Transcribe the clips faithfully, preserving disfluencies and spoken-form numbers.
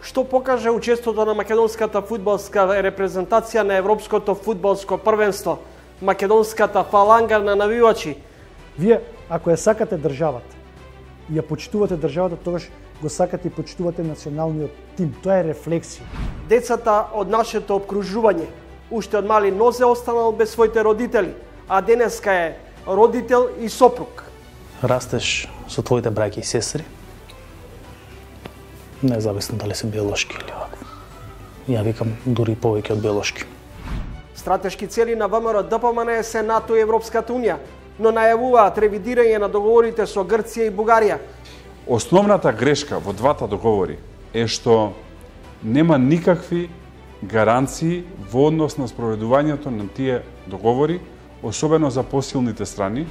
што покаже учеството на македонската фудбалска репрезентација на Европското фудбалско првенство, македонската фаланга на навивачи. Вие, ако ја сакате државата, ја почитувате државата, тогаш го сакате и почитувате националниот тим. Тоа е рефлексија. Децата од нашето обкружување, уште од мали нозе останал без своите родители, а денеска е родител и сопруг. Растеш со твоите браќа и сестри, независно дали се биолошки или вакво. Ја викам дури повеќе од биолошки. Стратешки цели на ВМРО-ДПМН се НАТО и Европската унија, но најавуваат ревидирање на договорите со Грција и Бугарија. Основната грешка во двата договори е што нема никакви гаранции во однос на спроведувањето на тие договори, особено за посилните страни.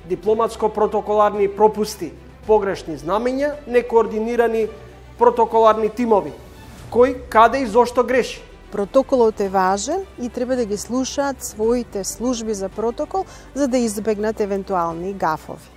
Дипломатско-протоколарни пропусти, погрешни знамења, некоординирани протоколарни тимови. Кој, каде и зошто греши? Протоколот е важен и треба да ги слушаат своите служби за протокол за да избегнат евентуални гафови.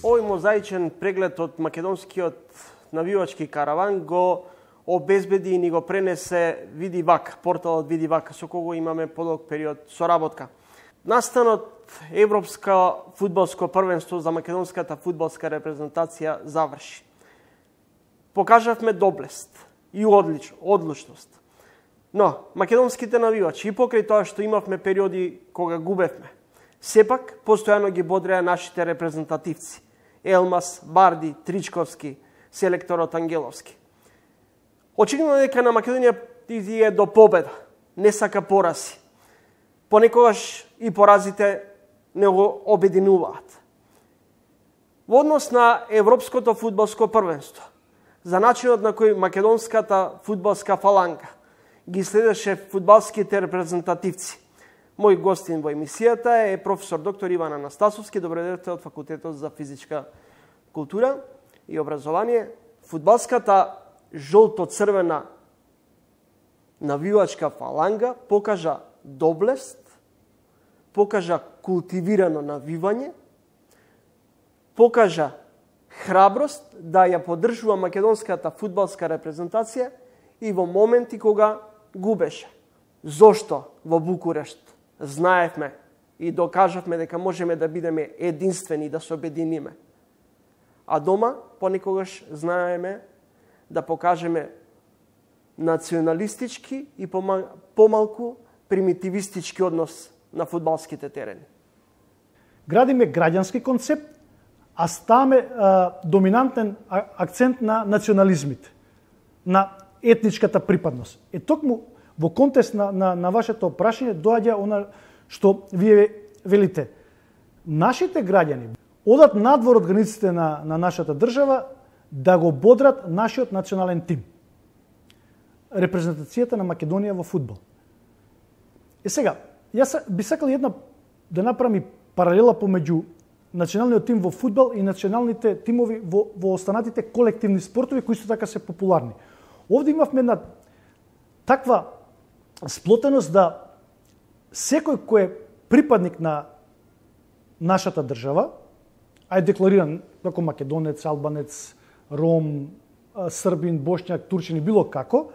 Овој мозаичен преглед од македонскиот навивачки караван го обезбеди и ни го пренесе Видивак, порталот Видивак, со кого имаме подолг период соработка. Настанот Европско фудбалско првенство за македонската фудбалска репрезентација заврши. Покажавме доблест и одлич, одлучност. Но, македонските навивачи, и покрај тоа што имавме периоди кога губевме, сепак постојано ги бодреа нашите репрезентативци. Елмас, Барди, Тричковски, селекторот Ангеловски. Очигледно дека на Македонија е до победа, не сака порази. Понекогаш и поразите не го обединуваат. Во однос на Европското фудбалско првенство, за начинот на кој македонската фудбалска фаланга ги следеше фудбалските репрезентативци, мој гостин во емисијата е професор доктор Иван Анастасовски, добредојдовте од Факултетот за физичка култура и образование. Фудбалската жолто-црвена навивачка фаланга покажа доблест, покажа култивирано навивање, покажа храброст да ја поддржува македонската фудбалска репрезентација и во моменти кога губеше. Зошто во Букурешт знаевме и докажавме дека можеме да бидеме единствени, да се обединиме. А дома понекогаш знаеме да покажеме националистички и помалку примитивистички однос на фудбалските терени. Градиме граѓански концепт, а ставаме а, доминантен акцент на национализмите, на етничката припадност. Е токму во контекст на, на, на вашето прашање доаѓа она што вие велите. Нашите граѓани одат надвор од границите на, на нашата држава да го бодрат нашиот национален тим. Репрезентацијата на Македонија во фудбал. Е сега, јас би сакал една да направам паралела помеѓу националниот тим во фудбал и националните тимови во, во останатите колективни спортови кои исто така се популарни. Овде имавме една таква сплотеност да секој кој е припадник на нашата држава, а е деклариран како македонец, албанец, ром, србин, бошњак, турчин и било како,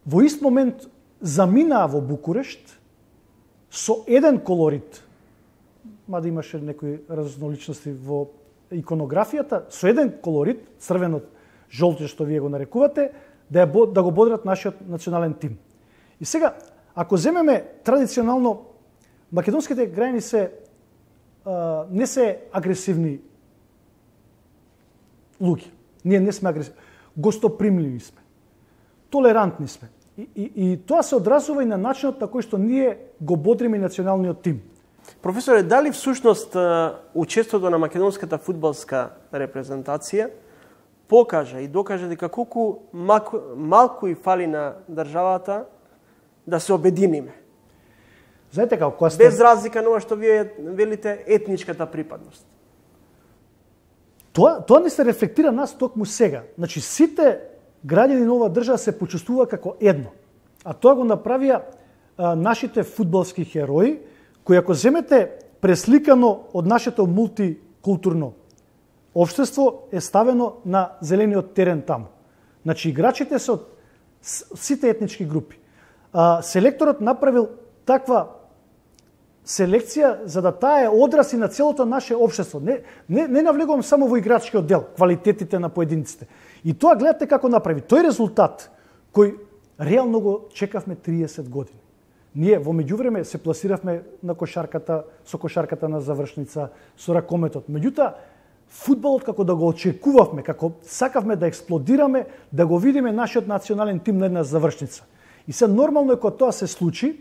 во ист момент заминаа во Букурешт со еден колорит, мада имаше некои разноличности во иконографијата, со еден колорит, црвенот, жолтиот што вие го нарекувате, да, ја, да го бодрат нашиот национален тим. И сега, ако земеме традиционално македонските граѓани се а, не се агресивни луѓе. Ние не сме агресивни. Гостопримливи сме. Толерантни сме. И, и, и тоа се одразува и на начинот на кој што ние го бодриме националниот тим. Професоре, дали всушност учеството на македонската фудбалска репрезентација покажа и докаже дека колку малку, малку и фали на државата да се обединиме? Знаете како, кога сте... Без разлика на ова што вие велите етничката припадност. Тоа, тоа не се рефлектира нас токму сега. Значи, сите граѓани на оваа држава се почувствува како едно. А тоа го направија а, нашите фудбалски херои, кои ако земете пресликано од нашето мултикултурно општество, е ставено на зелениот терен таму. Значи, играчите се од сите етнички групи. А, селекторот направил таква селекција за да таа е одраз и на целото наше општество. Не, не, не навлегувам само во играчкиот дел, квалитетите на поединците. И тоа гледате како направи. Тој резултат кој реално го чекавме триесет години. Ние во меѓувреме се пласиравме на кошарката, со кошарката на завршница, со ракометот. Меѓутоа, фудбалот како да го очекувавме, како сакавме да експлодираме, да го видиме нашиот национален тим на една завршница. И се нормално е кога тоа се случи,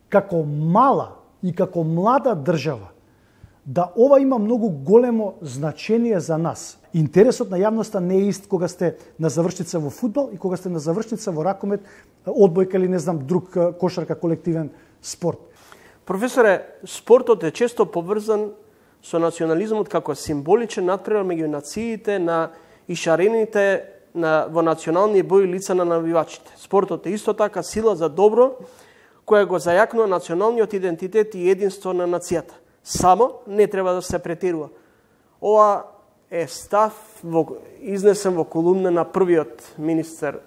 како мала и како млада држава, да ова има многу големо значение за нас. Интересот на јавноста не е ист кога сте на завршница во фудбал и кога сте на завршница во ракомет, одбојка или не знам друг кошарка, колективен спорт. Професоре, спортот е често поврзан со национализмот како символичен надпревар меѓу нациите на ишарените на, во национални бои лица на навивачите. Спортот е исто така сила за добро, која го зајакнува националниот идентитет и единство на нацијата. Само не треба да се претерува. Ова е став во, изнесен во колумна на првиот министер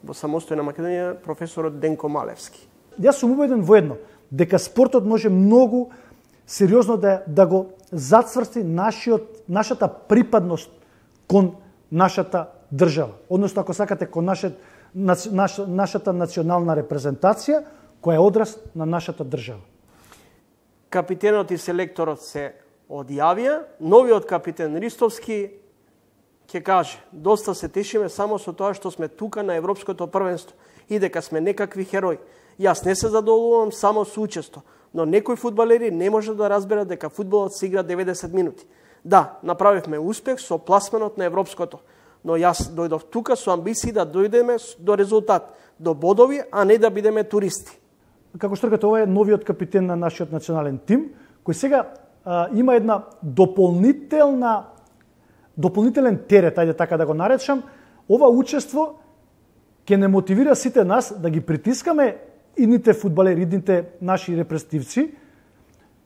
во самостојна Македонија, професорот Денко Малевски. Јас сум убеден во едно, дека спортот може многу сериозно да, да го зацврсти нашиот, нашата припадност кон нашата држава. Односно, ако сакате, кон нашет, наш, наш, нашата национална репрезентација, која е одраз на нашата држава. Капитенот и селекторот се одјавија, новиот капитен Ристовски ќе каже: доста се тешиме само со тоа што сме тука на Европското првенство и дека сме некакви херои. Јас не се задоволувам само со учество, но некои фудбалери не може да разберат дека фудбалот се игра деветдесет минути. Да, направивме успех со пласманот на Европското, но јас дојдов тука со амбиции да дојдеме до резултат, до бодови, а не да бидеме туристи. Како што рекате, ова е новиот капитен на нашиот национален тим, кој сега а, има една дополнителна дополнителен терет, ајде така да го наречам. Ова учество ќе не мотивира сите нас да ги притискаме идните фудбалери, идните наши репрезентативци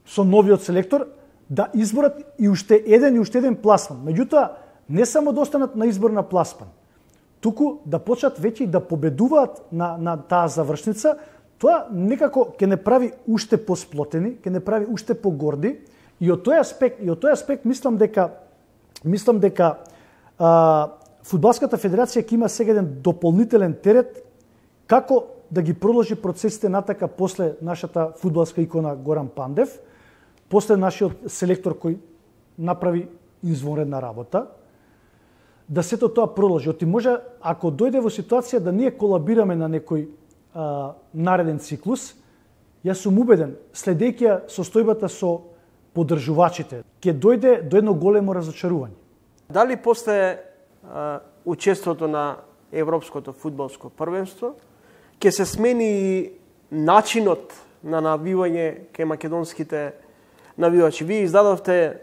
со новиот селектор да изборат и уште еден и уште еден пласман. Меѓутоа, не само да останат на избор на пласман, туку да почнат веќе и да победуваат на, на таа завршница. Тоа некако ќе не прави уште посплотени, ќе не прави уште погорди, и од тој аспект, и од тој аспект мислам дека мислам дека а, Фудбалската федерација ќе има сега еден дополнителен терет како да ги продолжи процесите натака после нашата фудбалска икона Горан Пандев, после нашиот селектор кој направи извонредна работа, да сето тоа продолжи. Оти може, ако дојде во ситуација да ние колабираме на некој а, нареден циклус, јас сум убеден, следејќи ја состојбата со поддржувачите, ќе дојде до едно големо разочарување. Дали после а, учеството на Европското фудбалско првенство ќе се смени и начинот на навивање кај македонските навивачи? Вие издадовте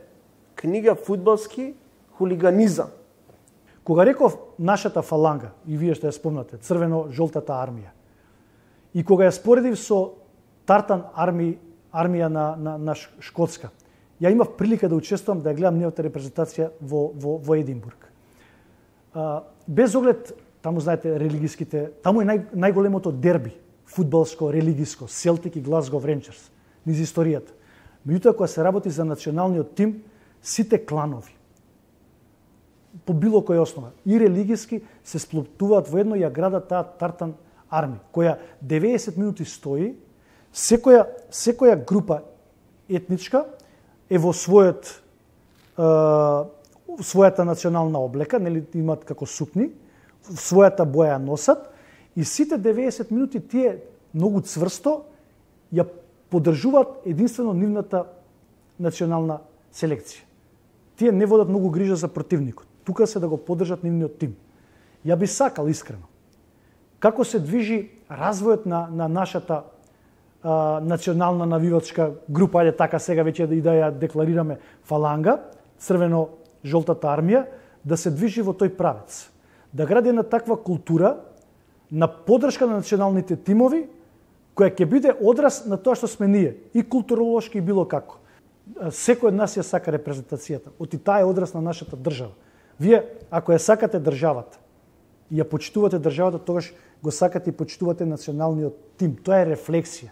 книга "Фудбалски хулиганизам". Кога реков нашата фаланга, и вие што ја спомнате, црвено-жолтата армија, и кога ја споредив со Тартан арми, армија на, на, на Шкотска, ја имав прилика да учествувам, да ја гледам нејовата репрезентација во, во, во Единбург. А, без оглед, таму знаете, религиските, таму е нај, најголемото дерби, фудбалско, религиско, Селтик и Глазгов Ренџерс, низ историјата. Меѓутоа, кога се работи за националниот тим, сите кланови, по било која основа, и религиски, се сплотуваат во едно и ја градат таа Тартан арми, која деветдесет минути стои, Секоја секоја група етничка е во својот е, својата национална облека, нели имаат како сукни, својата боја носат и сите деветдесет минути тие многу цврсто ја поддржуваат единствено нивната национална селекција. Тие не водат многу грижа за противникот. Тука се да го поддржат нивниот тим. Ја би сакал искрено како се движи развојот на, на нашата а, национална навивачка група, ајде така сега веќе да и да ја декларираме фаланга, црвено-жолтата армија, да се движи во тој правец. Да гради една таква култура на поддршка на националните тимови, која ќе биде одраз на тоа што сме ние, и културолошки и било како. Секој од нас ја сака репрезентацијата, оти таа е одраз на нашата држава. Вие, ако ја сакате државата, и ја почитувате државата, тогаш го сакате и почитувате националниот тим. Тоа е рефлексија,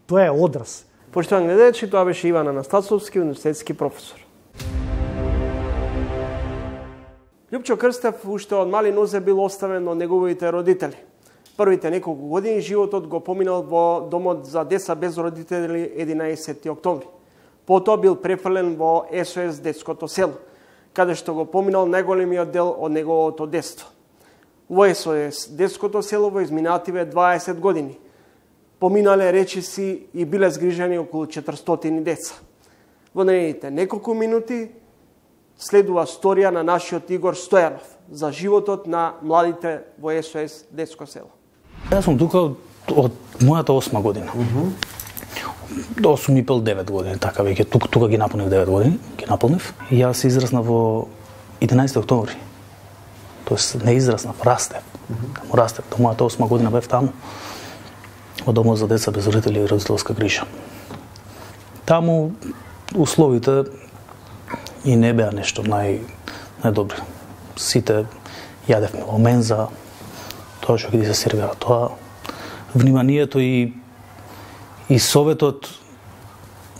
тоа е одраз. Поштовани гледачи, тоа беше Иван Анастасовски, универзитетски професор. Љупчо Крстев уште од мали нозе бил оставен од неговите родители. Првите неколку години животот го поминал во домот за деца без родители единаесети октомври. Потоа бил префрлен во Ес О Ес детското село, каде што го поминал најголемиот дел од неговото детство. Во Ес О Ес детското село во изминативе дваесет години поминале речиси и биле згрижени околу четиристотини деца. Во наредните неколку минути следува сторија на нашиот Игор Стојанов за животот на младите во Ес О Ес детско село. Јас сум тука од, од мојата осма година. Mm-hmm. До осум и пол девет години, така веќе тука, тука ги наполнив девет години, ги наполнив. И јас се израснав во единаесети октомври. Тоест не израснав, растев. Mm-hmm. Таму растев. До мојата осма година бев таму. Во домот за деца без родители и родителска грижа. Таму условите и не беа нешто нај најдобри. Сите јадевме во менза, тоа што ги се сервира тоа. Вниманието и и советот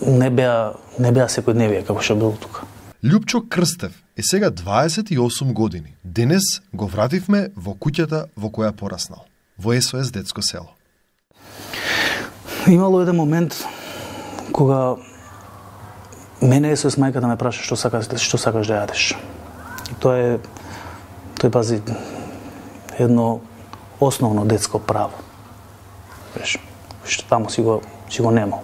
не беа не беа секојдневие како што било тука. Љупчо Крстев е сега дваесет и осум години. Денес го вративме во куќата во која пораснал, во Ес О Ес детско село. Имало еден момент кога мене Ес О Ес мајката ме праша што сакаш што сакаш да јадеш. И тоа е тој пази едно основно детско право. Веш, што таму си го си го немал.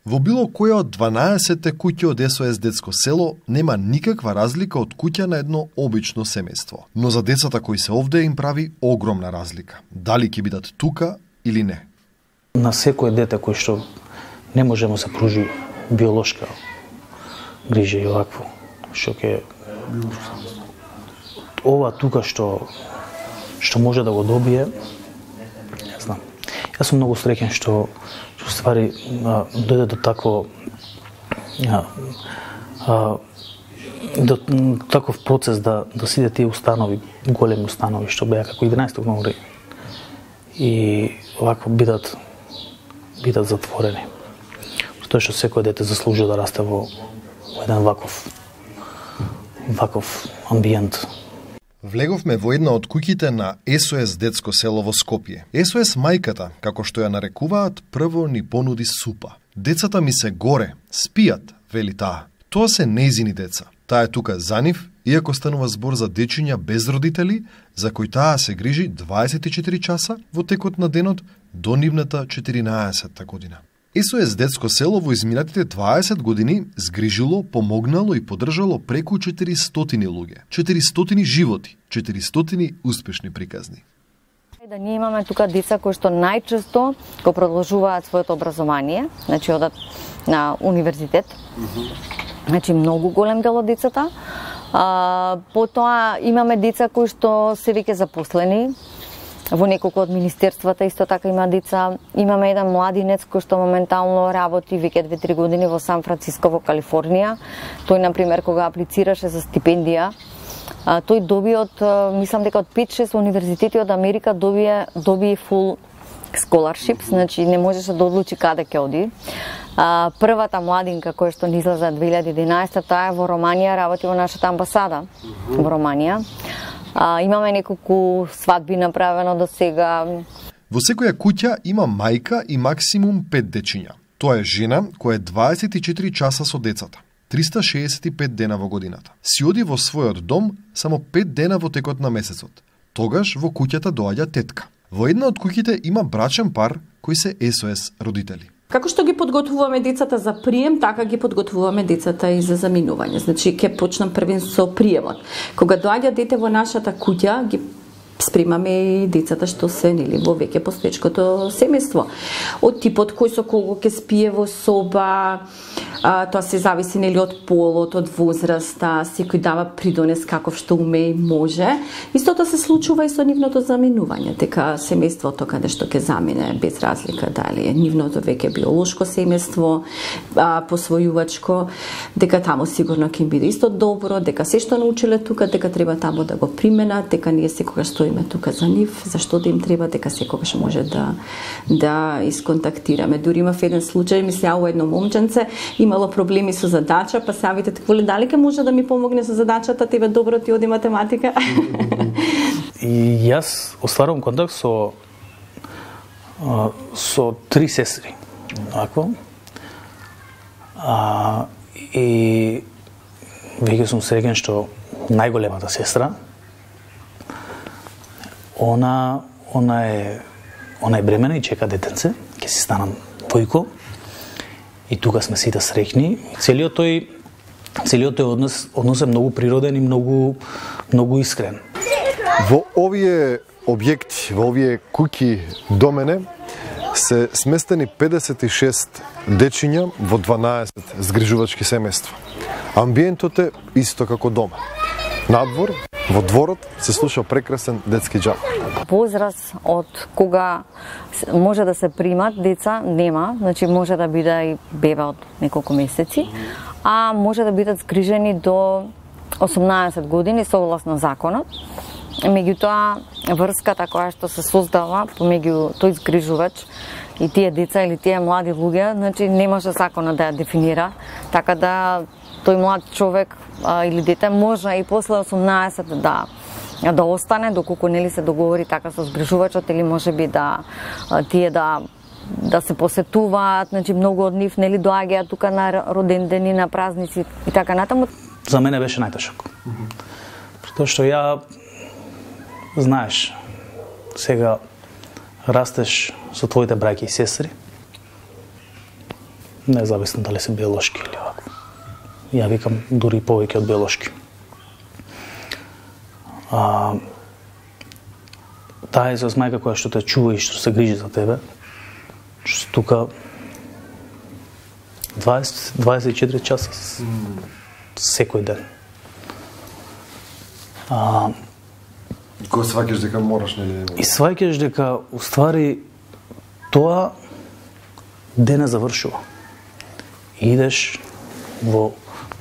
Во било која од дванаесетте куќи од Ес О Ес детско село нема никаква разлика од куќа на едно обично семејство. Но за децата кои се овде им прави огромна разлика. Дали ќе бидат тука или не. На секој дете кој што не може да му се пружи биолошка грижа и овакво, што ќе ова тука што што може да го добие, не знам. Јас сум многу среќен што што ствари а, дојде до такво а, а, до таков процес да да сите тие установи, големи установи што беа како единаесети октомври и овакво бидат бидат затворени. Тоа што секој дете заслужува да расте во, во еден ваков ваков амбиент. Влеговме во една од куќите на Ес О Ес детско село во Скопје. Ес О Ес мајката, како што ја нарекуваат, прво ни понуди супа. Децата ми се горе, спијат, вели таа. Тоа се нејзини деца. Таа е тука за нив, иако станува збор за дечиња без родители, за кои таа се грижи дваесет и четири часа во текот на денот до нивната четиринаесетта година. Ес О Ес детско село во изминатите дваесет години згрижило, помогнало и поддржало преку четиристотини луѓе, четиристотини животи, четиристотини успешни приказни. Да ние имаме тука деца кои што најчесто го продолжуваат своето образование, значи одат на универзитет. Mm-hmm. Значи многу голем дел од децата. А, потоа имаме деца кои што се веќе запослени. Во неколку од министерствата исто така има деца. Имаме еден младинец кој што моментално работи веќе две-три години во Сан Франциско во Калифорнија. Тој на пример кога аплицираше за стипендија, а, тој доби од мислам дека од пет-шест универзитети од Америка доби доби full scholarship, значи не можеше да одлучи каде ќе оди. А, првата младинка која што ни излезе две илјади и единаесетта, таа е во Романија, работи во нашата амбасада во Романија. А, имаме неколку свадби направено до сега. Во секоја куќа има мајка и максимум пет дечиња. Тоа е жена која е дваесет и четири часа со децата, триста шеесет и пет дена во годината. Си оди во својот дом само пет дена во текот на месецот. Тогаш во куќата доаѓа тетка. Во една од куќите има брачен пар кои се Ес О Ес родители. Како што ги подготвуваме децата за прием, така ги подготвуваме децата и за заминување. Значи, ќе почнам првен со приемот. Кога доаѓа дете во нашата куќа, ги спремаме и децата што се нели во веќе постечкото семејство. Од типот кој со кого ќе спие во соба, а, тоа се зависи нели од полот, од возраста, секој дава придонес каков што уме и може. Истото се случува и со нивното заминување, дека семејството каде што ќе замине без разлика дали е нивното веќе биолошко семејство, а, посвојувачко, дека таму сигурно ќе им биде исто добро, дека се што научиле тука, дека треба таму да го применат, дека ние секогаш стоиме тука за нив, зашто да им треба, дека секогаш може да да исконтактираме. Дури имав еден случај, ми се јавува едно момченце, имало проблеми со задача, па савите такволе дали ке може да ми помогне со задачата, тебе добро ти оди математика. И јас остварувам контакт со со три сестри. Ако а, и веќе сум среќен што најголемата сестра Она, она е, она е бремена и чека детенце, ќе си станам војко. И тука сме сите среќни. Целиот тој, целиот тој однос, однос е многу природен и многу, многу искрен. Во овие објекти, во овие куќи до мене, се сместени педесет и шест дечиња во дванаесет згрижувачки семејства. Амбиентот е исто како дома. Надвор, во дворот, се слуша прекрасен детски џаб. Возраст од кога може да се примат деца нема, значи може да биде и бебе од неколку месеци, а може да бидат згрижени до осумнаесет години согласно законот. Меѓутоа, врската која што се создава помеѓу тој згрижувач и тие деца или тие млади луѓе, значи не може законот да ја дефинира, така да тој млад човек а, или дете може и после осумнаесет да да остане доколку нели се договори така со згрижувачот или можеби да а, тие да да се посетуваат, значи многу од нив нели доаѓаат тука на родендени, на празници и така натаму. За мене беше најтешок. Тоа што ја знаеш, сега растеш со твоите браќа и сестри, независно дали се биолошки или вакво. Ја викам дури повеќе од биолошки. А, таа е мајка која што те чува и што се грижи за тебе, што тука дваесет, дваесет и четири часа секој ден. А, И кога сваќаш дека мораш, нели? И сваќаш дека уствари тоа ден не завршува. Идеш во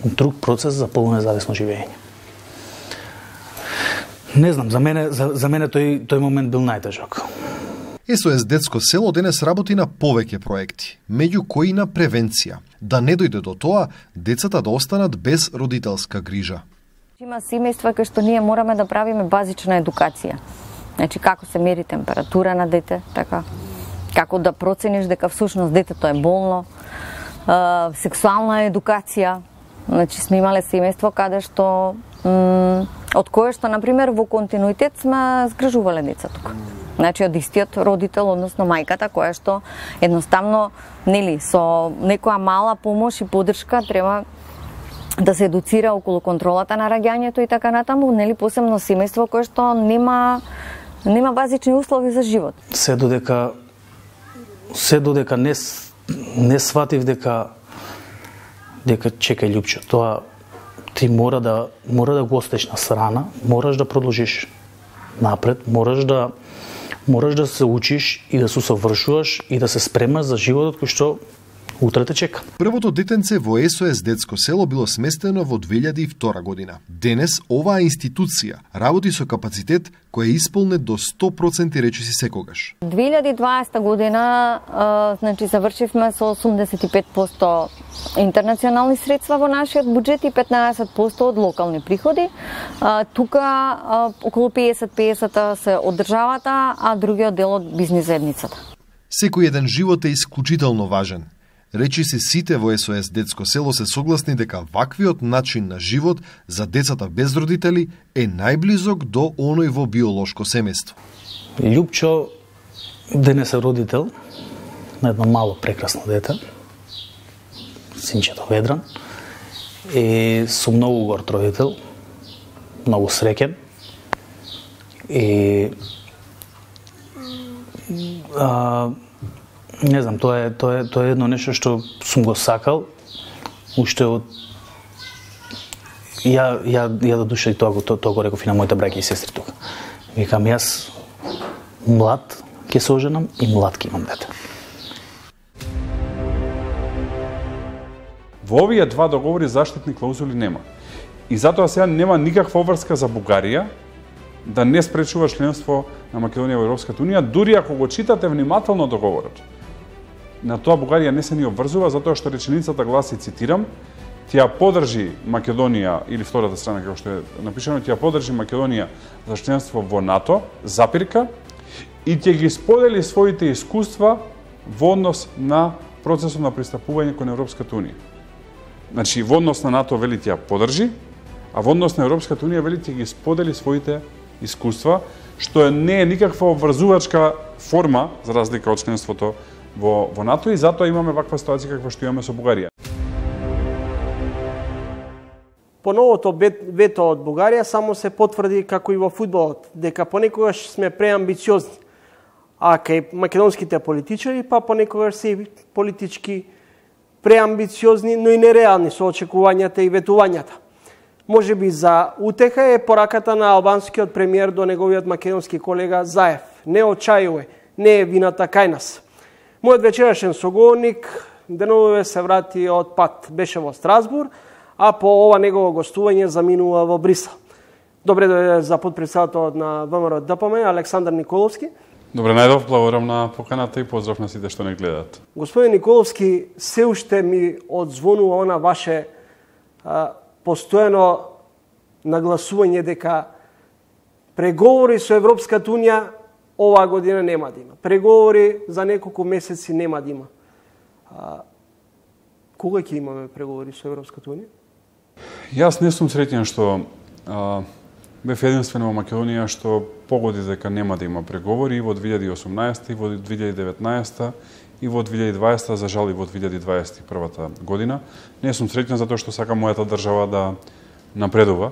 друг процес за полунезависно живење. Не знам, за мене за, за мене тој тој момент бил најтежок. Ес О Ес Детско село денес работи на повеќе проекти, меѓу кои на превенција, да не дојде до тоа децата да останат без родителска грижа. Има семејства кај што ние мораме да правиме базична едукација. Значи како се мери температура на дете, така како да процениш дека всушност детето е болно, е, сексуална едукација. Значи сме имале семејство каде што од кое што на пример во континуитет сме згрижувале деца тука. Значи од истиот родител, односно мајката која што едноставно нели со некоја мала помош и поддршка треба да се едуцира околу контролата на раѓањето и така натаму, нели посебно семејство кое што нема нема базични услови за живот. Се додека се додека не не сватив дека дека чекај љупче, тоа ти мора да мора да го остеш на страна, мораш да продолжиш напред, мораш да мораш да се учиш и да се усовршуваш и да се спремаш за животот кој што утре те чека. Првото детенце во ес о ес детско село било сместено во две илјади и втора година. Денес оваа институција работи со капацитет кој е исполнет до сто проценти речиси секогаш. две илјади и дваесета година а, значи завршивме со осумдесет и пет проценти интернационални средства во нашиот буџет и петнаесет проценти од локални приходи. А, тука а, околу педесет педесет се од државата, а другиот дел од бизнис заедницата. Секој еден живот е исклучително важен. Речиси сите во ес о ес детско село се согласни дека ваквиот начин на живот за децата без родители е најблизок до оној во биолошко семејство. Љупчо денес е родител на едно мало прекрасно дете, синчето Ведран, и со многу горд родител, многу среќен. И а, не знам, тоа е тоа е тоа е едно нешто што сум го сакал уште од ја ја ја до душа и тоа го тоа, тоа го реков и на моите браќа и сестри тука. Викам јас млад ќе се оженам и млад ќе имам дете. Во овие два договори заштитни клаузули нема. И затоа сега нема никаква обврска за Бугарија да не спречува членство на Македонија во Европската унија, дури ако го читате внимателно договорот. На тоа Бугарија не се ни обврзува, затоа што реченицата гласи, цитирам, тја подржи Македонија, или втората страна како што е напишано, тја подржи Македонија за членство во НАТО, запирка, и ќе ги сподели своите искуства во однос на процесот на пристапување кон Европската унија. Значи, во однос на НАТО вели тја подржи, а во однос на Европската унија вели ќе ги сподели своите искуства, што не е никаква обврзувачка форма, за разлика од членството во, во НАТО, и затоа имаме ваква ситуација каква што имаме со Бугарија. По новото вето од Бугарија само се потврди, како и во фудбалот, дека понекогаш сме преамбициозни, а кај македонските политичари па понекогаш се политички преамбициозни, но и нереални со очекувањата и ветувањата. Може би за утеха е пораката на албанскиот премиер до неговиот македонски колега Заев. Не очајувај, не е вината кај нас. Мојот вечерашен соговорник деновиве се врати од пат. Беше во Страсбур, а по ова негово гостување заминува во Брисел. Добре дојде за подпредседателот на ВМРО ДПМН Александар Николовски. Добре најдов, благодарам на поканата и поздрав на сите што не гледаат. Господин Николовски, се уште ми одзвонува она ваше а, постојано нагласување дека преговори со Европската унија оваа година нема да има. Преговори за неколку месеци нема да има. А, кога ќе имаме преговори со Европската унија? Јас не сум среќен што а, бев единствен во Македонија што погоди дека нема да има преговори и во две илјади и осумнаесета, и во две илјади и деветнаесета, и во две илјади и дваесета, за жал и во две илјади дваесет и прва година. Не сум среќен затоа што сакам мојата држава да напредува.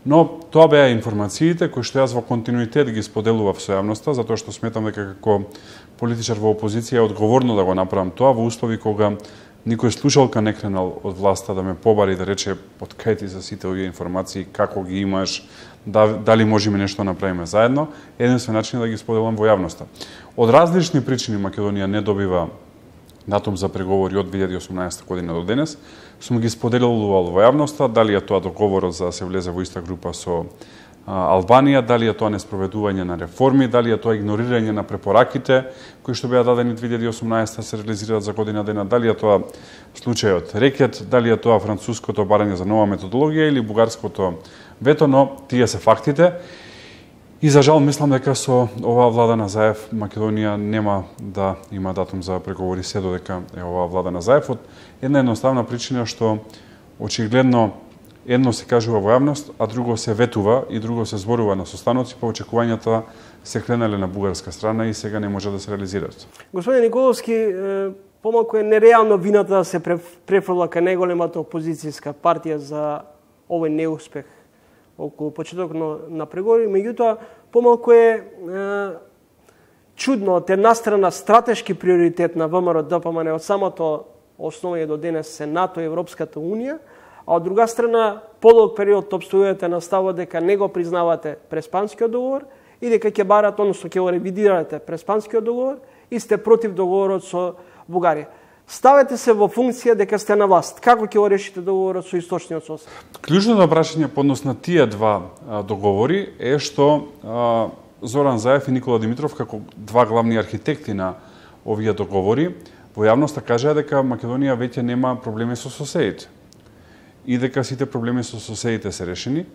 Но тоа беа информациите кои што јас во континуитет ги споделував со јавноста, затоа што сметам дека како политичар во опозиција е одговорно да го направам тоа во услови кога никој слушалка не кренал од власта да ме побари да рече од кај ти за сите овие информации, како ги имаш, дали можеме нешто да направиме заедно. Единствен начин да ги споделам во јавноста. Од различни причини Македонија не добива датум за преговори од две илјади и осумнаесета година до денес. Сум ги споделувал во јавноста, дали е тоа договорот за да се влезе во иста група со а, Албанија, дали е тоа неспроведување на реформи, дали е тоа игнорирање на препораките кои што беа дадени две илјади и осумнаесета се реализираат за година дена, дали е тоа случајот рекет, дали е тоа француското барање за нова методологија или бугарското вето, но тие се фактите. И за жал мислам дека со оваа влада на Заев Македонија нема да има датум за преговори се додека е оваа влада на Заев, од една едноставна причина што очигледно едно се кажува во јавност, а друго се ветува и друго се зборува на состаноци, па очекувањата се кренале на бугарска страна и сега не може да се реализираат. Господин Николовски, помалку е нереално вината да се префрла кај најголемата опозицијска партија за овој неуспех околу почеток на преговори, меѓутоа помалку е, е чудно од една страна стратешки приоритет на ВМРО ДПМН од самото основање до денес се НАТО и Европската унија, а од друга страна подолг период обстојувате на ставот дека не го признавате Преспанскиот договор и дека ќе барате, односно ќе го ревидирате Преспанскиот договор и сте против договорот со Бугарија. Ставете се во функција дека сте на власт. Како ќе го решите договорот со источниот сосед? Клучното прашање по однос на тие два а, договори е што а, Зоран Заев и Никола Димитров, како два главни архитекти на овие договори, во јавноста кажаа дека Македонија веќе нема проблеми со соседите и дека сите проблеми со соседите се решени.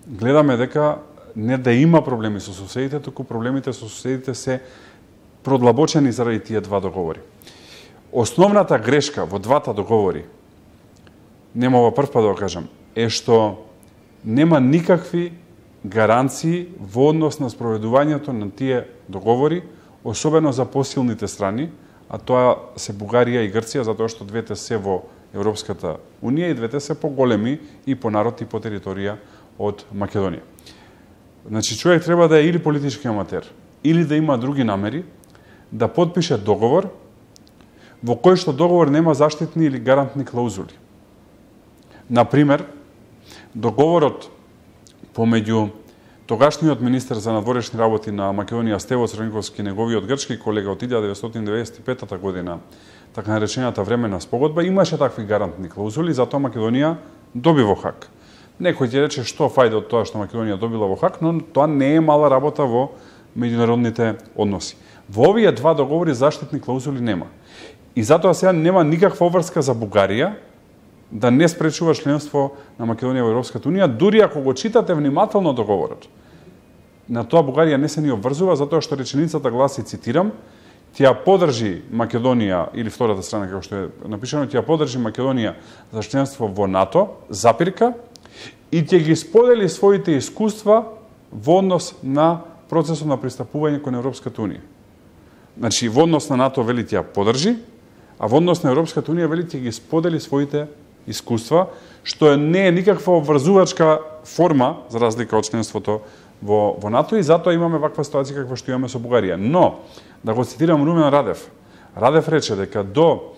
Гледаме дека не да има проблеми со соседите, туку проблемите со соседите се продлабочени заради тие два договори. Основната грешка во двата договори, нема ова прв пат да го кажам, е што нема никакви гаранции во однос на спроведувањето на тие договори, особено за посилните страни, а тоа се Бугарија и Грција, затоа што двете се во Европската Унија и двете се поголеми и по народ и по територија од Македонија. Значи, човек треба да е или политички аматер, или да има други намери, да подпише договор во кој што договор нема заштитни или гарантни клаузули. Например, договорот помеѓу тогашниот министер за надворешни работи на Македонија Стево Црниковски и неговиот грчки колега од илјада деветстотини деветдесет и петта година, така наречената временна спогодба, имаше такви гарантни клаузули, затоа Македонија доби во Хаг. Некој ќе рече што фајде од тоа што Македонија добила во Хаг, но тоа не е мала работа во меѓународните односи. Во овие два договори заштитни клаузули нема. И затоа сега нема никаква обврска за Бугарија да не спречува членство на Македонија во Европската Унија, дури ако го читате внимателно договорот. На тоа Бугарија не се ни обврзува, затоа што реченицата гласи, цитирам, тја подржи Македонија, или втората страна, како што е напишано, тја подржи Македонија за членство во НАТО, запирка, и ќе ги сподели своите искуства во однос на процесот на пристапување кон Европската Унија. Значи, во однос на НАТО вели тја подржи, а во однос на Европската Унија вели ќе ги сподели своите искуства, што не е никаква обврзувачка форма, за разлика од членството во, во НАТО, и затоа имаме ваква ситуација каква што имаме со Бугарија. Но, да го цитирам Румен Радев, Радев рече дека до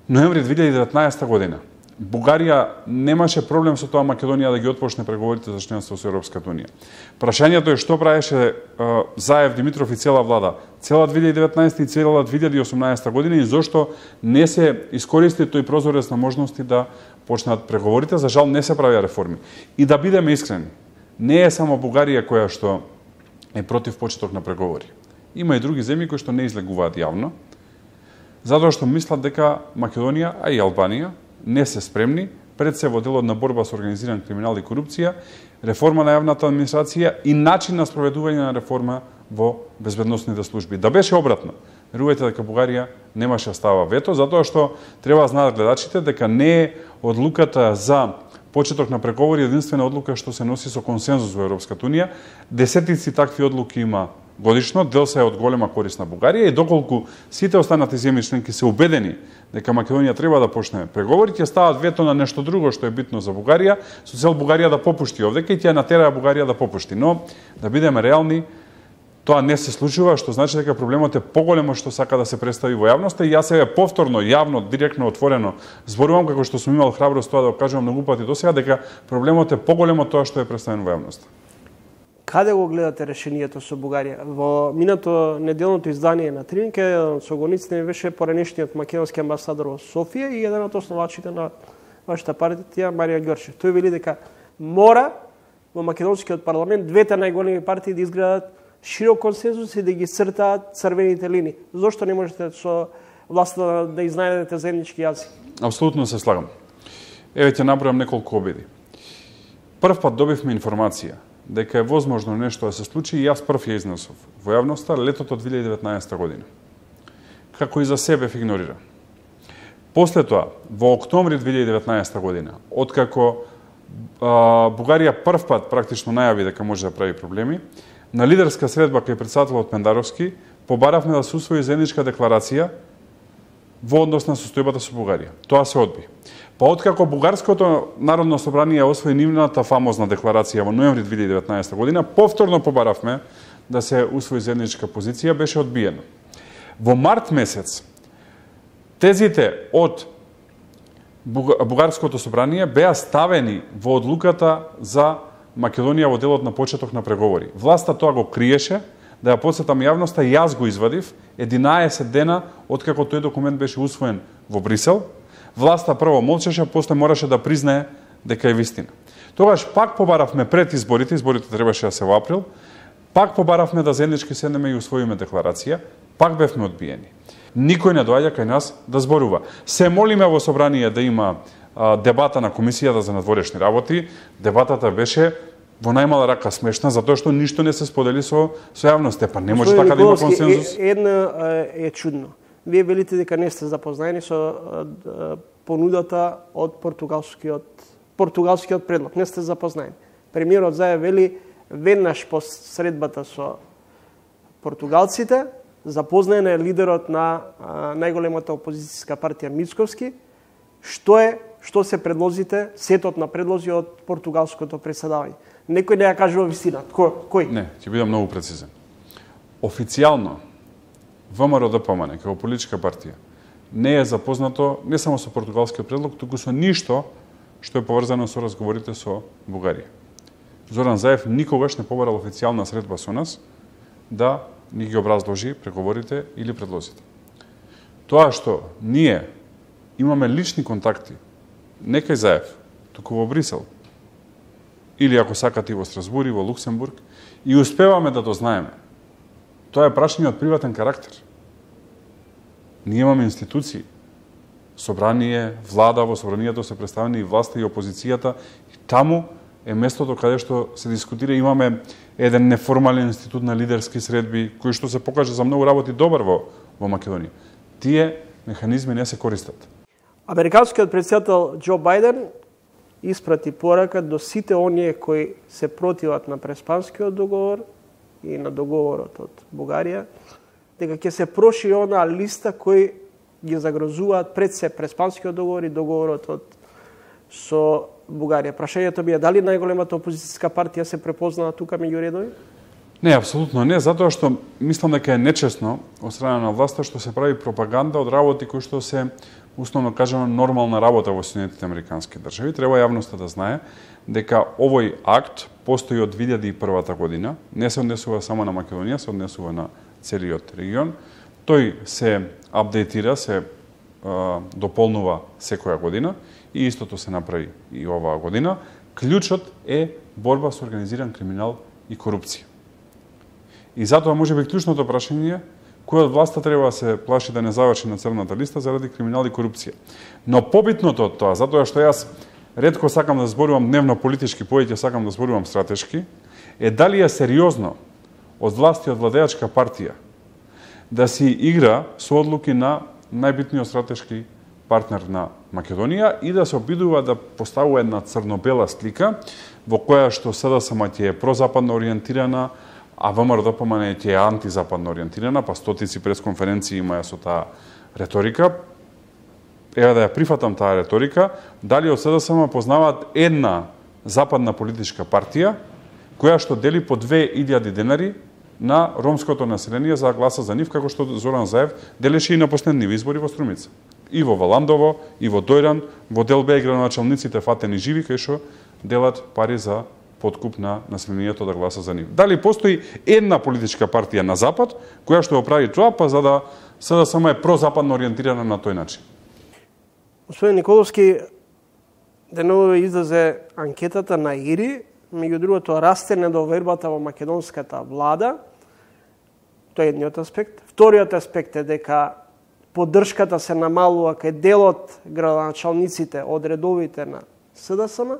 ноември две илјади и деветнаесета година Бугарија немаше проблем со тоа Македонија да ги отпочне преговорите за членство со Европската Унија. Прашањето е што правеше uh, Заев, Димитров и цела влада цела две илјади и деветнаесета и цела две илјади и осумнаесета година и зошто не се искористи тој прозорец на можности да почнат преговорите. За жал не се правија реформи. И да бидеме искрени, не е само Бугарија која што е против почеток на преговори. Има и други земји кои што не излегуваат јавно, затоа што мислат дека Македонија, а и Албанија, не се спремни, пред се во делот на борба со организиран криминал и корупција, реформа на јавната администрација и начин на спроведување на реформа во безбедносните служби. Да беше обратно, верувајте дека Бугарија немаше става вето, затоа што треба да знаат гледачите дека не е одлуката за почеток на преговори единствена одлука што се носи со консензус во Европската Унија. Десетици такви одлуки има годишно, дел се е од голема корист на Бугарија и доколку сите останати земји членки се убедени дека Македонија треба да почне преговори, ќе стават вето на нешто друго што е битно за Бугарија, со цел Бугарија да попушти овдека и ќе натераа Бугарија да попушти. Но, да бидеме реални, тоа не се случува, што значи дека проблемот е поголемо што сака да се представи во јавноста и јас себе повторно, јавно, директно, отворено зборувам, како што сум имал храброст тоа да го кажувам многу пати досега, дека проблемот е поголемо тоа што е представено во јавноста. Каде го гледате решението со Бугарија? Во минато неделното издание на Тринке, со гониците беше поранешниот македонски амбасадор во Софија и еден од основачите на вашата партија, Марија Ѓорчев. Тој вели дека мора во македонскиот парламент двете најголеми партии да изградат широк консензус и да ги цртаат црвените линии. Зошто не можете со власта да изнајдете заеднички јазик? Апсолутно се слагам. Еве ќе набројам неколку обиди. Прв пат добивме информација дека е возможно нешто да се случи и јас прв ја изнесов во јавноста летото две илјади и деветнаесета година. Како и за себе игнорира. После тоа, во октомври две илјади и деветнаесета година, откако а, Бугарија прв пат практично најави дека може да прави проблеми, на лидерска средба кај претседателот Пендаровски побаравме да се усвои заедничка декларација во однос на состојбата со Бугарија. Тоа се одби. Па откако Бугарското народно собрание освои нивната фамозна декларација во ноември две илјади и деветнаесета година, повторно побаравме да се усвои заедничка позиција, беше одбиено. Во март месец тезите од Бугарското собрание беа ставени во одлуката за Македонија во делот на почеток на преговори. Власта тоа го криеше, да ја подсетам јавноста, јас го извадив единаесет дена откако тој документ беше усвоен во Брисел. Власта прво молчеше, после мораше да признае дека е вистина. Тогаш пак побаравме пред изборите, изборите требаше да се во април, пак побаравме да заеднички седнеме и усвоиме декларација, пак бевме одбиени. Никој не доаѓа кај нас да зборува. Се молиме во собрание да има а, дебата на комисијата за надворешни работи. Дебатата беше во најмала рака смешна, затоа што ништо не се сподели со, со јавноста. Па не може така да има консензус. Е, една е, е чудно. Вие велите дека не сте запознаени со а, понудата од португалскиот португалскиот предлог. Не сте запознаени. Премиерот Заев вели веднаш по средбата со португалците, запознаен е лидерот на а, најголемата опозицијска партија Мицковски, што е, што се предлозите, сетот на предлози од португалското преседавање. Некој не ја кажува вистината. Кој? Кој? Не, ќе бидам многу прецизен. Официјално ВМРО-ДПМН како политичка партија не е запознато не само со португалскиот предлог, туку со ништо што е поврзано со разговорите со Бугарија. Зоран Заев никогаш не побарал официјална средба со нас да ни ги образложи преговорите или предлозите. Тоа што ние имаме лични контакти, не кај Заев, туку во Брисел, или ако сакате и во Страсбург и во Луксембург, и успеваме да дознаеме. Тоа е прашање од приватен карактер. Ние имаме институции, собрание, влада, во собранието се представени и власта и опозицијата, и таму е местото каде што се дискутира. Имаме еден неформален институт на лидерски средби, кој што се покаже за многу работи добар во, во Македонија. Тие механизми не се користат. Американскиот претседател Џо Бајден испрати порака до сите оние кои се противат на Преспанскиот договор и на договорот од Бугарија, дека ќе се прошири онаа листа кои ги загрозуваат пред се Преспанскиот договор и договорот од со Бугарија. Прашањето ми е дали најголемата опозицијска партија се препознава тука меѓу редови? Не, апсолутно не, затоа што мислам дека е нечесно од страна на власта што се прави пропаганда од работи кои што се условно кажано нормална работа во Соединетите Американски држави. Треба јавноста да знае дека овој акт постои од две илјади и прва година, не се однесува само на Македонија, се однесува на целиот регион. Тој се апдейтира, се а, дополнува секоја година и истото се направи и оваа година. Клучот е борба со организиран криминал и корупција. И затоа може би клучното прашање е кој од власта треба да се плаши да не заврши на црната листа заради криминал и корупција. Но побитното од тоа, затоа што јас ретко сакам да зборувам дневно политички, повеќе сакам да зборувам стратешки, е дали е сериозно од власти од владеачка партија да си игра со одлуки на најбитниот стратешки партнер на Македонија и да се обидува да поставува една црно-бела слика во која што СДСМ ќе е прозападно ориентирана, а ВМРО-ДПМН ќе е антизападно ориентирана, па стотици пресконференции имаја со таа риторика. Ева да ја прифатам таа риторика, дали од СДСМ познаваат една западна политичка партија која што дели по две илјади денари на ромското население за гласа за нив, како што Зоран Заев делеше и на последниви избори во Струмица. И во Валандово, и во Дојран, во Делбе и градоначалниците фатени живи, кај што делат пари за подкуп на населението да гласа за нив. Дали постои една политичка партија на Запад, која што го прави тоа, па за да СДСМ е прозападно ориентирана на тој начин? Господин Николовски, деновиве излезе анкетата на ИРИ, меѓу другото расте недовербата во македонската влада. Тоа е едниот аспект. Вториот аспект е дека поддршката се намалува кај делот градоначалниците од редовите на СДСМ,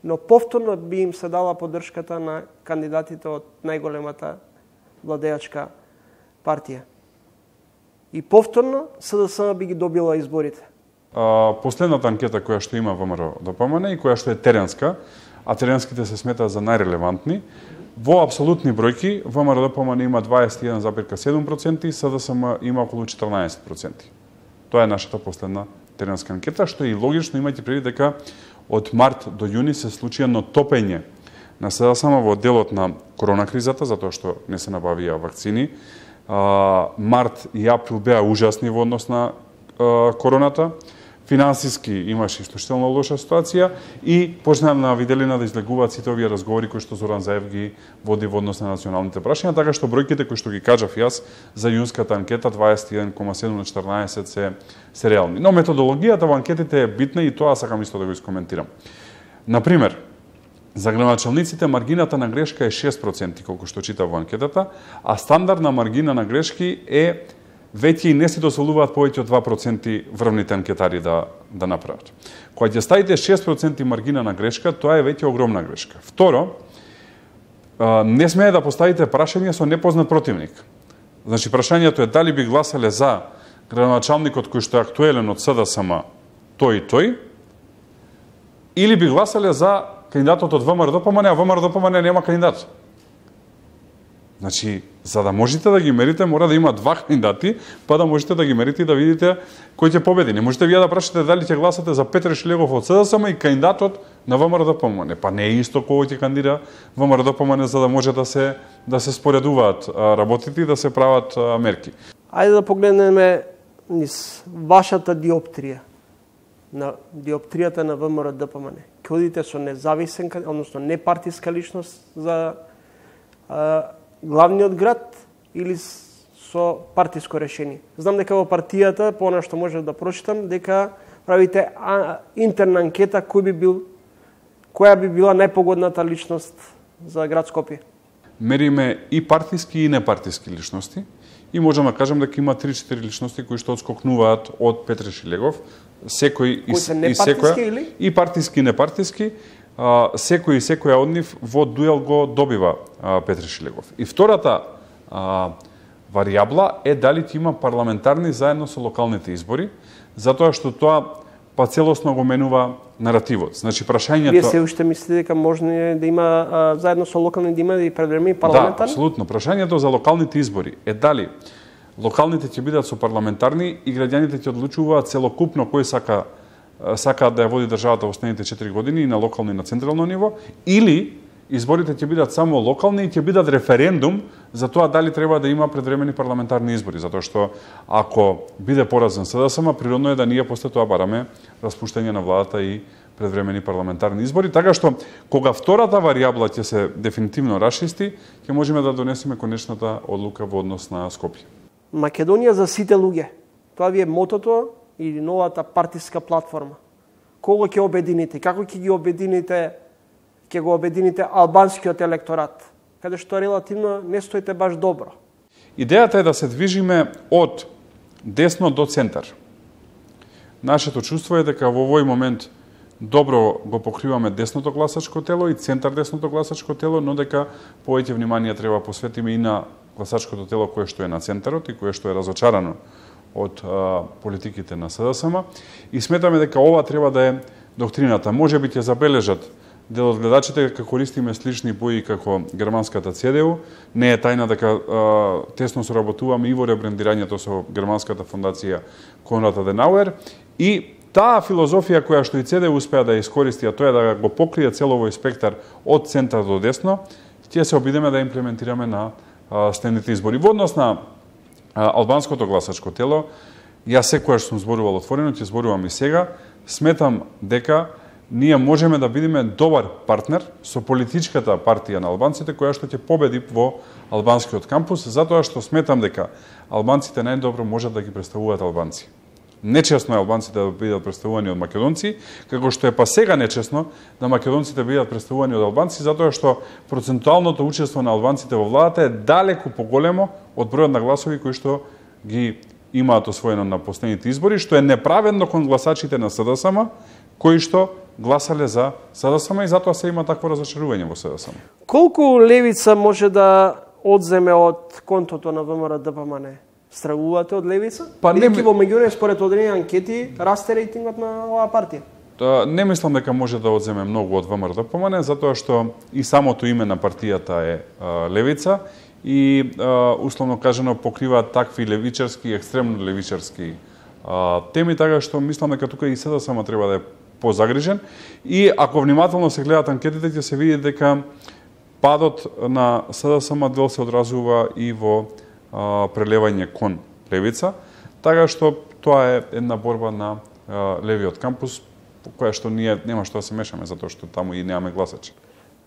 но повторно би им се дала поддршката на кандидатите од најголемата владеачка партија. И повторно СДСМ би ги добила изборите. А, последната анкета која што има ВМРО-ДПМН и која што е теренска, а теренските се сметаат за најрелевантни, во апсолутни бројки ВМРО-ДПМН има дваесет и еден зарез седум проценти, СДСМ има околу четрнаесет проценти. Тоа е нашата последна теренска анкета, што е и логично, имајте предвид дека од март до јуни се случи едно топење на СДСМ во делот на корона кризата, затоа што не се набавија вакцини. А, март и април беа ужасни во однос на а, короната. финансиски имаше исклучително лоша ситуација и почна на виделина да излегуваат сите овие разговори кои што Зоран Заев ги води во однос на националните прашања, така што бројките кои што ги кажав јас за јунската анкета дваесет и еден кoma седум на четрнаесет се се реални. Но методологијата во анкетите е битна и тоа сакам исто да го искоментирам. Например, за градоначалниците маргината на грешка е шест проценти, колку што читав во анкетата, а стандардна маргина на грешки е веќе и не се дозволуваат повеќе од два проценти врвните анкетари да, да направат. Кога ќе ставите шест проценти маргина на грешка, тоа е веќе огромна грешка. Второ, не смее да поставите прашање со непознат противник. Значи, прашањето е дали би гласале за градоначалникот кој што е актуелен од СДСМ тој и тој, или би гласале за кандидатот од ВМРО-ДПМН, а ВМРО-ДПМН нема кандидат. Значи, за да можете да ги мерите, мора да има два кандидати, па да можете да ги мерите и да видите кој ќе победи. Не можете вие да прашате дали ќе гласате за Петре Шилегов од СДСМ и кандидатот на ВМРО-ДПМН. Па не е исто кој ќе кандидира ВМРО-ДПМН за да може да се да се споредуваат работите и да се прават мерки. Ајде да погледнеме низ вашата диоптрија, на диоптријата на ВМРО-ДПМН. Ќе одите со независен, односно непартиска личност за а, главниот град или со партиско решение. Знам дека во партијата, по она што можев да прочитам, дека правите а, интерна анкета кој би бил, која би била најпогодната личност за град Скопје. Мериме и партиски и непартиски личности и можам да кажам дека има три-четири личности кои што одскокнуваат од Петре Шилегов, секој и, и секоја или? И партиски и непартиски. Uh, секој и секоја од нив во дуел го добива uh, Петре Шилегов. И втората uh, варијабла е дали ќе има парламентарни заедно со локалните избори, затоа што тоа па целосно го менува наративот. Значи прашањето... Вие се уште мислите дека можно да има uh, заедно со локални да има и предвремени парламентарни? Да, апсолутно. Прашањето за локалните избори е дали локалните ќе бидат со парламентарни и граѓаните ќе одлучуваат целокупно кој сака сакаат да ја води државата во следните четири години и на локално и на централно ниво, или изборите ќе бидат само локални и ќе бидат референдум за тоа дали треба да има предвремени парламентарни избори, затоа што ако биде поразен СДСМ, природно е да ние после тоа бараме распуштање на владата и предвремени парламентарни избори, така што кога втората варијабла ќе се дефинитивно расчисти, ќе можеме да донесеме конечната одлука во однос на Скопје. Македонија за сите луѓе. Тоа ви е мотото или новата партиска платформа. Кого ќе обедините? Како ќе ги обедините? Ќе го обедините албанскиот електорат, каде што релативно не стоите баш добро. Идејата е да се движиме од десно до центар. Нашето чувство е дека во овој момент добро го покриваме десното гласачко тело и центар десното гласачко тело, но дека повеќе внимание треба посветиме и на гласачкото тело кое што е на центарот и кое што е разочарано од а, политиките на СДСМ и сметаме дека ова треба да е доктрината. Може би ќе забележат дел од гледачите дека користиме слични бои како германската ЦДУ. Не е тајна дека а, тесно соработуваме и во ребрендирањето со германската фондација Конрад Аденауер и таа филозофија која што и ЦДУ успеа да ја искористи, а тоа е да го покрие целовој спектар од центар до десно, ќе се обидеме да имплементираме на а, следните избори. Во однос на албанското гласачко тело, јас секогаш сум зборувал отворено, ќе зборувам и сега, сметам дека ние можеме да бидеме добар партнер со политичката партија на албанците која што ќе победи во албанскиот кампус, затоа што сметам дека албанците најдобро можат да ги представуваат албанци. Нечесно е албанците да бидат представувани од македонци, како што е па сега нечесно да македонците бидат представувани од албанци, затоа што процентуалното учество на албанците во владата е далеку поголемо од бројот на гласови кои што ги имаат освоено на последните избори, што е неправедно кон гласачите на СДСМ, кои што гласале за СДСМ и затоа се има такво разочарување во СДСМ. Колку левица може да одземе од контото на ВМРО-ДПМН? Стравувате од левица? Па не во меѓувреме според одредени анкети расте рейтингот на оваа партија. Та, не мислам дека може да одземе многу од ВМРО-ДПМН, затоа што и самото име на партијата е а, левица и а, условно кажано покрива такви левичарски, екстремно левичарски а, теми, така што мислам дека тука и СДСМ треба да е позагрижен и ако внимателно се гледат анкетите ќе се види дека падот на СДСМ дел се одразува и во а, прелевање кон левица, така што тоа е една борба на левиот кампус, по која што ние нема што да се мешаме, затоа што таму и немаме гласачи.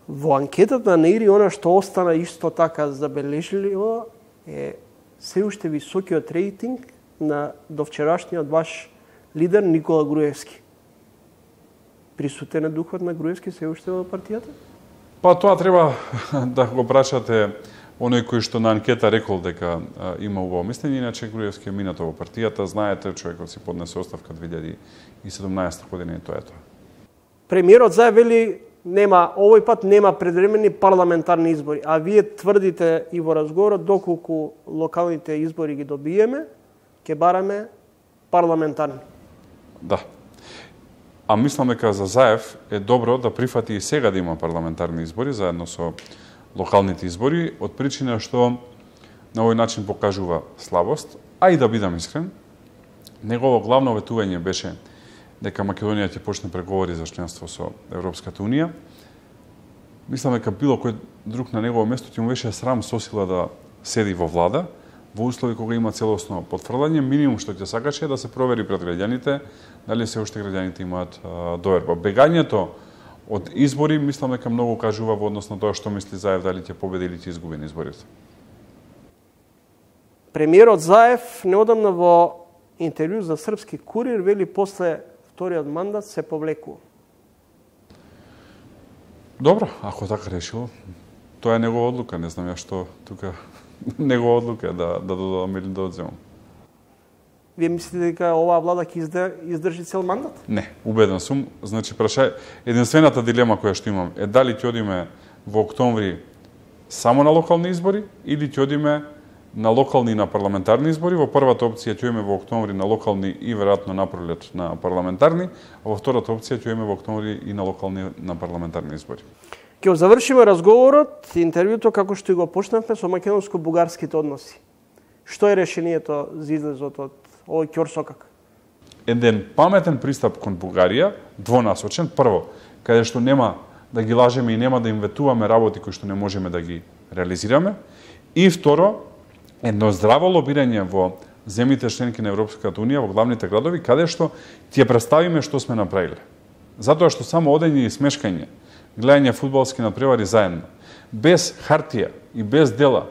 Во анкетата на ИРИ, она што остана исто така забележливо е се уште високиот рейтинг на довчерашниот ваш лидер Никола Груевски. Присутен е духот на Груевски се уште во партијата? Па тоа треба да го прашате оној кој што на анкета рекол дека а, има убаво мислење, иначе Груевски е минато во партијата, знаете, човекот си поднесе оставка две илјади и седумнаесета година и тоа е тоа. Премиерот Заев вели нема, овој пат нема предвремени парламентарни избори, а вие тврдите и во разговорот доколку локалните избори ги добиеме, ќе бараме парламентарни. Да. А мислам дека за Заев е добро да прифати и сега да има парламентарни избори заедно со локалните избори, од причина што на овој начин покажува слабост, а и да бидам искрен, негово главно ветување беше дека Македонија ќе почне преговори за членство со Европската Унија. Мислам дека било кој друг на негово место ќе му беше срам со сила да седи во влада, во услови кога има целосно потврдување, минимум што ќе сакаше е да се провери пред граѓаните дали се уште граѓаните имаат а, доверба. Бегањето од избори, мислам дека многу кажува во однос на тоа што мисли Заев дали ќе победи или ќе изгуби на изборите. Премиерот Заев неодамна во интервју за Српски курир вели после вториот мандат се повлекува. Добро, ако така решил, тоа е негова одлука, не знам ја што тука негова одлука да да додадам или да одземам. Вие мислите дека оваа влада ќе издржи цел мандат? Не, убеден сум. Значи, праша, единствената дилема која што имам е дали ќе одиме во октомври само на локални избори или ќе одиме на локални и на парламентарни избори. Во првата опција ќе одиме во октомври на локални и веројатно на пролет на парламентарни, а во втората опција ќе одиме во октомври и на локални на парламентарни избори. Ќе завршиме разговорот, интервјуто како што го почнавме со македонско-бугарските односи. Што е решението за излезот од овој ќорсокак? Еден паметен пристап кон Бугарија, двонасочен, прво, каде што нема да ги лажеме и нема да им ветуваме работи кои што не можеме да ги реализираме, и второ, едно здраво лобирање во земјите членки на Европската Унија, во главните градови, каде што ти ја представиме што сме направиле. Затоа што само одење и смешкање, гледање фудбалски надпревари заедно, без хартија и без дела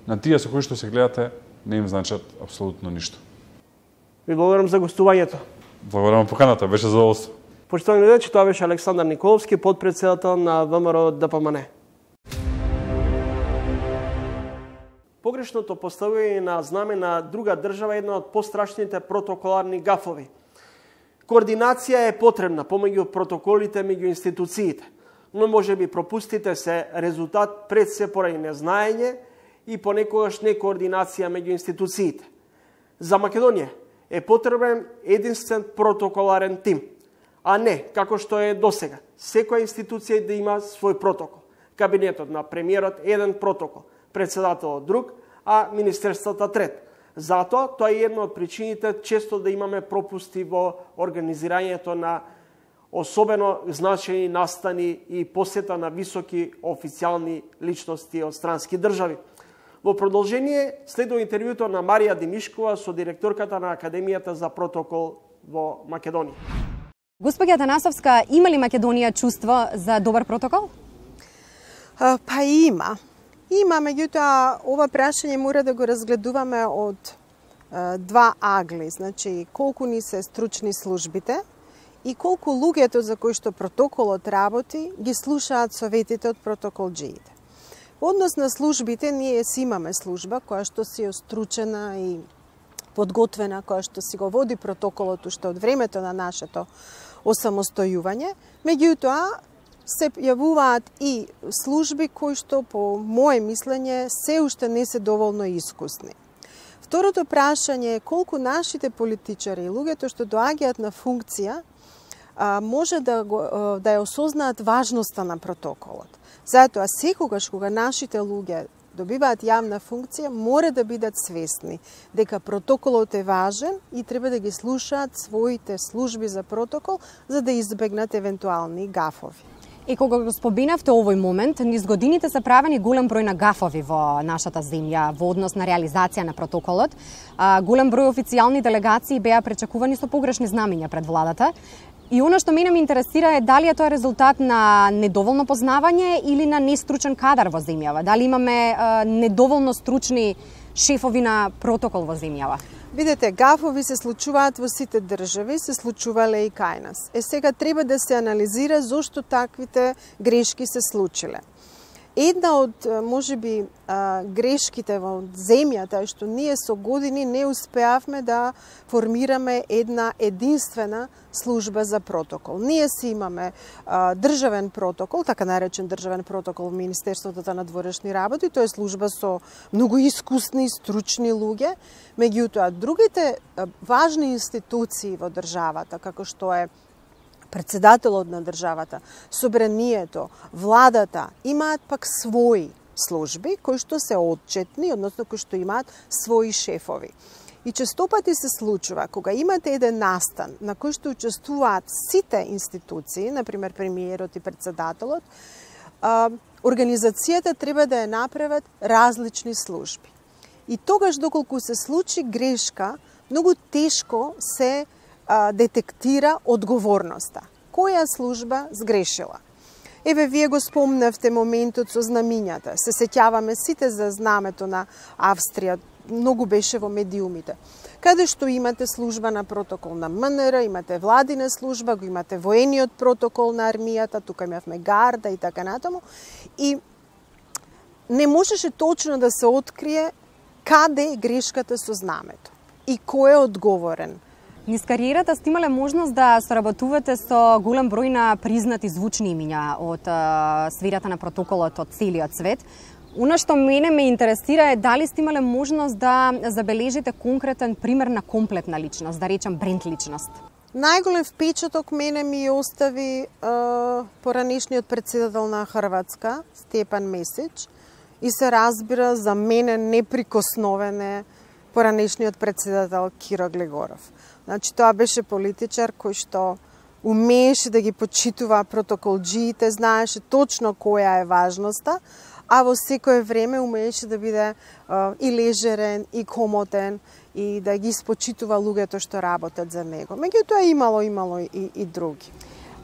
на тие со кои што се гледате, не им значат апсолутно ништо. Ви благодарам за гостувањето. Благодарам поканата, беше задоволство. Почитувани гледачи, тоа беше Александар Николовски, подпредседател на ВМРО Д П М Н. Погрешното поставување на знаме на друга држава е една од пострашните протоколарни гафови. Координација е потребна помеѓу протоколите меѓу институциите, но може би пропустите се резултат пред се поради незнаење и понекогаш некоординација меѓу институциите. За Македонија е потребен единствен протоколарен тим, а не како што е досега. Секоја институција да има свој протокол. Кабинетот на премиерот еден протокол, председателот друг, а министерствата трет. Затоа тоа е една од причините често да имаме пропусти во организирањето на особено значајни настани и посета на високи официјални личности од странски држави. Во продолжение следува интервјуто на Марија Димишкова со директорката на Академијата за протокол во Македонија. Госпоѓа Танасовска, има ли Македонија чувство за добар протокол? А, па има. Има, меѓутоа, ова прашање мора да го разгледуваме од а, два агли. Значи, колку ни се стручни службите и колку луѓето за кои што протоколот работи ги слушаат советите од протоколџиите. Во однос на службите, ние си имаме служба која што си остручена и подготвена, која што си го води протоколот уште од времето на нашето осамостојување. Меѓутоа, се јавуваат и служби кои што, по моје мислење, се уште не се доволно искусни. Второто прашање е колку нашите политичари и луѓето што доаѓаат на функција може да, го, да ја осознаат важноста на протоколот. Затоа, секогаш кога нашите луѓе добиваат јавна функција, мора да бидат свесни дека протоколот е важен и треба да ги слушаат своите служби за протокол за да избегнат евентуални гафови. И кога го споминавте овој момент, низ годините се правени голем број на гафови во нашата земја во однос на реализација на протоколот. А, голем број официјални делегации беа пречекувани со погрешни знамења пред владата. И она што мене ме интересира е дали е тоа резултат на недоволно познавање или на нестручен кадар во земјава. Дали имаме а, недоволно стручни шефови на протокол во земјава? Видете, гафови се случуваат во сите држави, се случувале и кај нас. Е, сега треба да се анализира зошто таквите грешки се случиле. Една од, можеби, грешките во земјата е што ние со години не успеавме да формираме една единствена служба за протокол. Ние си имаме а, државен протокол, така наречен државен протокол во Министерството за надворешни работи, тоа е служба со многу искусни, стручни луѓе, меѓутоа другите а, важни институции во државата, како што е председателот на државата, собранието, владата, имаат пак своји служби кои што се отчетни, односно кои што имаат своји шефови. И честопати се случува кога имате еден настан на кој што учествуваат сите институции, например премиерот и председателот, организацијата треба да ја направат различни служби. И тогаш доколку се случи грешка, многу тешко се а, детектира одговорноста. Која служба сгрешила? Еве, вие го спомнавте моментот со знамињата. Се сеќаваме сите за знамето на Австрија, многу беше во медиумите. Каде што имате служба на протокол на М Н Р, имате владина служба, го имате воениот протокол на армијата, тука имавме гарда и така натаму. И не можеше точно да се открие каде е грешката со знамето и кој е одговорен. Низ кариерата сте имале можност да соработувате со голем број на признати звучни имиња од а, сферата на протоколот од целиот свет. Она што мене ме интересира е дали сте имале можност да забележите конкретен пример на комплетна личност, да речем бренд личност. Најголем впечаток мене ми остави а, поранешниот председател на Хрватска, Степан Месич, и се разбира за мене неприкосновен е поранешниот председател Киро Глегоров. Значи, тоа беше политичар кој што умееше да ги почитува протоколџиите, знаеше точно која е важноста, а во секое време умееше да биде а, и лежерен, и комотен, и да ги спочитува луѓето што работат за него. Меѓутоа имало, имало и, и други.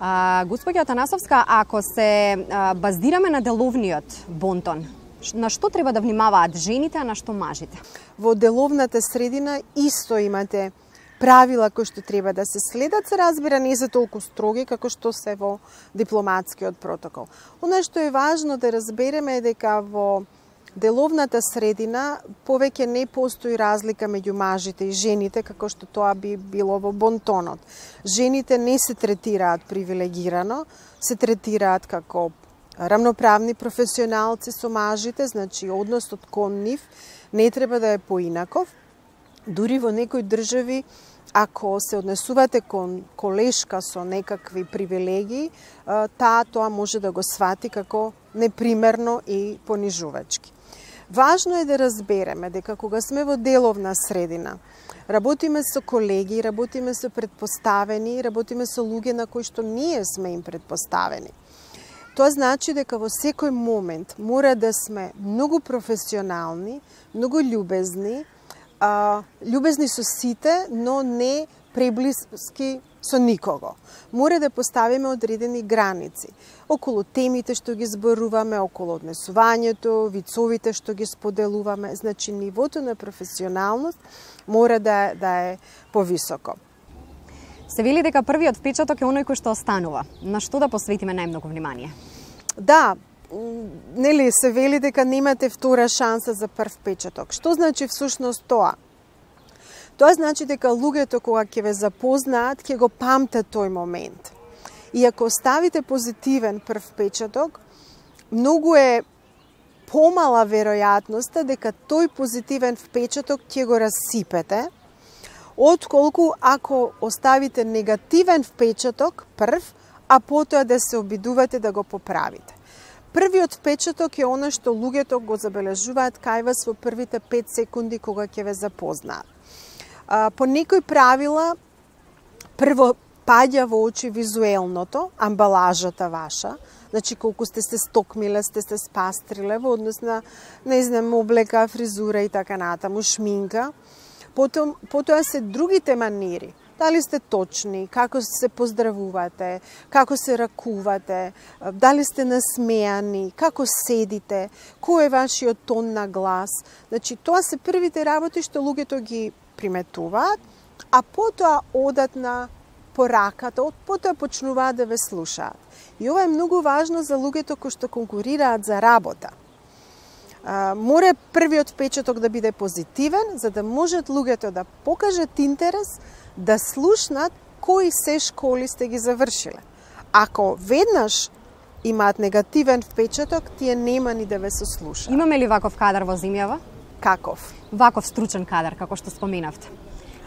А, Господја Атанасовска, ако се а, баздираме на деловниот бонтон, на што треба да внимаваат жените, а на што мажите? Во деловната средина исто имате правила кои што треба да се следат, се разбира не се толку строги како што се во дипломатскиот протокол. Она што е важно да разбереме е дека во деловната средина повеќе не постои разлика меѓу мажите и жените како што тоа би било во бонтонот. Жените не се третираат привилегирано, се третираат како рамноправни професионалци со мажите, значи односот кон нив не треба да е поинаков. Дури во некои држави, ако се однесувате кон колешка со некакви привилегии, таа тоа може да го свати како непримерно и понижувачки. Важно е да разбереме дека кога сме во деловна средина, работиме со колеги, работиме со предпоставени, работиме со луѓе на кои што ние сме им предпоставени. Тоа значи дека во секој момент мора да сме многу професионални, многу љубезни, а, љубезни со сите, но не преблиски со никого. Мора да поставиме одредени граници околу темите што ги зборуваме, околу однесувањето, вицовите што ги споделуваме. Значи, нивото на професионалност мора да, да е повисоко. Се вели дека првиот впечаток е оној кој што останува. На што да посветиме најмногу внимание? Да, нели се вели дека немате втора шанса за прв впечаток. Што значи всушност тоа? Тоа значи дека луѓето кога ќе ве запознаат, ќе го памтат тој момент. И ако оставите позитивен прв впечаток, многу е помала веројатноста дека тој позитивен впечаток ќе го расипете, отколку ако оставите негативен впечаток прв, а потоа да се обидувате да го поправите. Првиот впечаток е она што луѓето го забележуваат кај вас во првите пет секунди кога ќе ве запознаат. По некои правила, прво паѓа во очи визуелното, амбалажата ваша, значи колку сте се стокмиле, сте се спастриле во однос на, не знам, облека, фризура и така натаму, шминка. Потом, потоа се другите манири. Дали сте точни, како се поздравувате, како се ракувате, дали сте насмеани, како седите, кој е вашиот тон на глас. Значи, тоа се првите работи што луѓето ги приметуваат, а потоа одат на пораката, потоа почнуваат да ве слушаат. И ова е многу важно за луѓето кои што конкурираат за работа. А, мора првиот впечаток да биде позитивен, за да можат луѓето да покажат интерес, да слушнат кои се школи сте ги завршиле. Ако веднаш имаат негативен впечаток, тие нема ни да ве сослушаат. Имаме ли ваков кадар во земјава? Каков? Ваков стручен кадар, како што споменавте.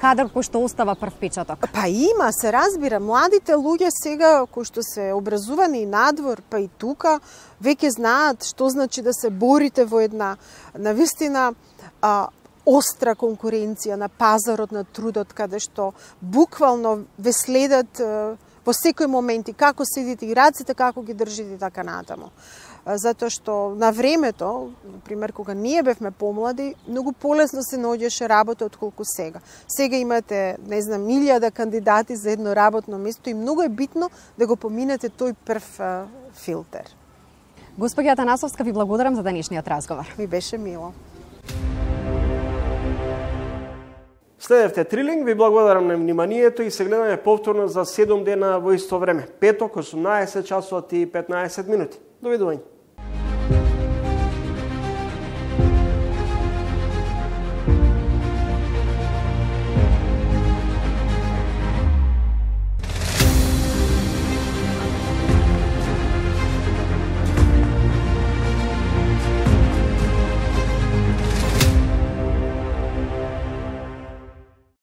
Кадар кој што остава прв впечаток. Па има, се разбира. Младите луѓе сега, кои што се образувани надвор, па и тука, веќе знаат што значи да се борите во една, навистина, а, остра конкуренција на пазарот на трудот, каде што буквално ве следат е, во секој момент и како седите и раците, како ги држите и така натаму. Затоа што на времето, например, кога ние бевме помлади, многу полесно се наоѓаше работа отколку сега. Сега имате, не знам, илјада кандидати за едно работно место и многу е битно да го поминете тој прв е, филтер. Госпоѓа Атанасовска, ви благодарам за денешниот разговор. Ми беше мило. Следевте Трилинг, ви благодарам на вниманието и се гледаме повторно за седум дена во исто време. Петок, осумнаесет часот и петнаесет минути. Довидување.